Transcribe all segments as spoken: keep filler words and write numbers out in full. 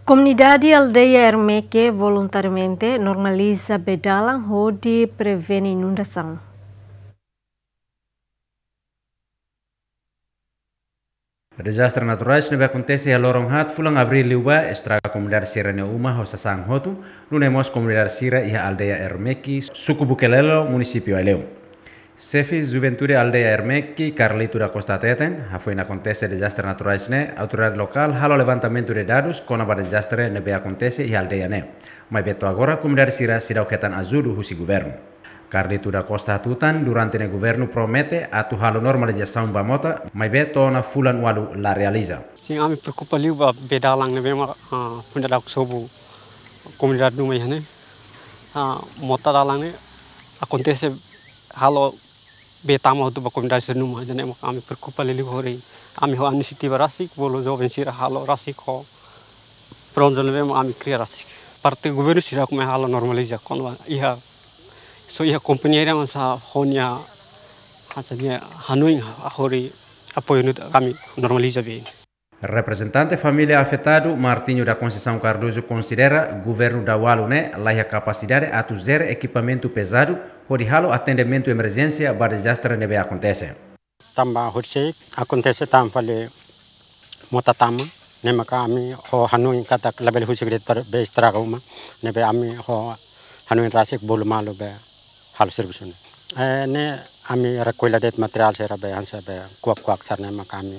Komunidade aldeia Ermeke voluntariamente normaliza bee dalan hodi prevene inundasaun. Dezastre naturais ne'ebé akontese iha loron haat fulan Abríl liubá estraga komunidade sira-nia uma ho sasán hotu, nune'e mós komunidade sira iha aldeia Ermeke, suku Bukelelo, munisípiu Aileu. Xefe Juventude aldeia Ermeke, Carlito da Costa hateten, hafoin akontese dezastre naturais ne'e, autoridade lokál halo levantamentu de dadus kona-ba dezastre ne'ebé akontese iha aldeia ne'e. Maibé to'o agora komunidade sira seidauk hetan ajuda husi governu. Carlito da Costa hatutan, durante ne'e governu promete atu halo normalizasaun ba mota, maibé to'o ona fulan ualu la realiza. Sin, ami preokupa liu ba bee dalan ne'ebé mak, ah, foin daudauk sobu komunidade Numa iha ne'e. Ah, mota dalan ne'e akontese halo bee tama hotu ba komunidade sira Numa, ida-ne'e mak ami preokupa liu hori. Ami ho inisiativa rasik, bolu joven sira halo rasik ho pronjo ne'ebé mak ami kria rasik. Parte governu seidauk mai halo normaliza kona-ba iha, só iha kompañia ida mak hanesan ho nia, hanesan nia hanoin hodi apoiu nu'udar ami normaliza bee. Reprezentante família afetadu, Martinho da Conceição Cardoso, konsidera governu daudaun ne'e laiha kapasidade atu jere ekipamentu pezadu hodi halo atendimentu emerjénsia ba dezastre ne'ebé akontese. Tanba horisehik akontese tan fali mota tama, ne'e maka ami ho hanoin katak labele husik de'it para bee estraga uma, ne'ebé ami ho hanoin rasik bolu malu bee halo servisu ne'e. Eh, ne'e ami rekolla de'it materiál sira bee hanesan bee kuak-kuak sira-ne'e maka ami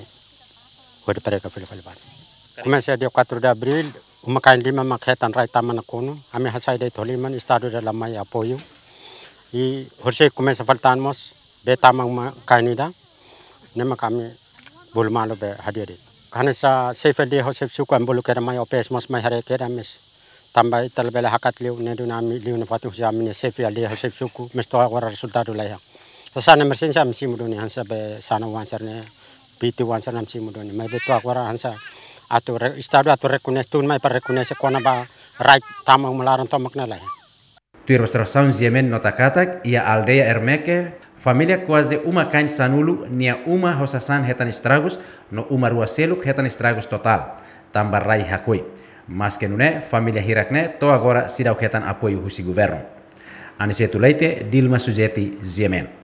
hodi prega fila fali ba. Komesa dia quatro de abril, uma-kain lima mak hetan rai tama nakonu, ami hasai de'it ho liman, Estadu la mai apoiu. I horisehik komesa fali tan mós bee tama uma-kain ida, ne'e maka ami bolu malu bee hadi'a de'it. Hanesan xefe aldeia ho xefe suku ami bolu kedas mai, O P S mós mai haree kedas, mais tanba ita labele hakat liu, ne'e duni ami liu nafatin husi ami-nia xefe aldeia ho xefe suku, mais to'o agora rezultadu laiha. Sasán emerjénsia ami simu duni hanesan bee sanan oan sira-ne'e, piti oan sira-ne'e ami simu duni. Maibé to'o agora hanesan atu re-, Estadu atu rekoñese, tun mai para rekoñese kona-ba rai tama uma laran tomak ne'e laiha. Tuir observasaun GMN nota katak, iha aldeia Ermeke, família kuaze uma-kain sanulu nia uma ho sasán hetan estragus, no uma rua seluk hetan estragus totál, tanba rai hakoi. Maske nune'e, família hirak ne'e to'o agora seidauk hetan apoiu husi governu. Aniceto Leite, Dilma Suzeti, GMN.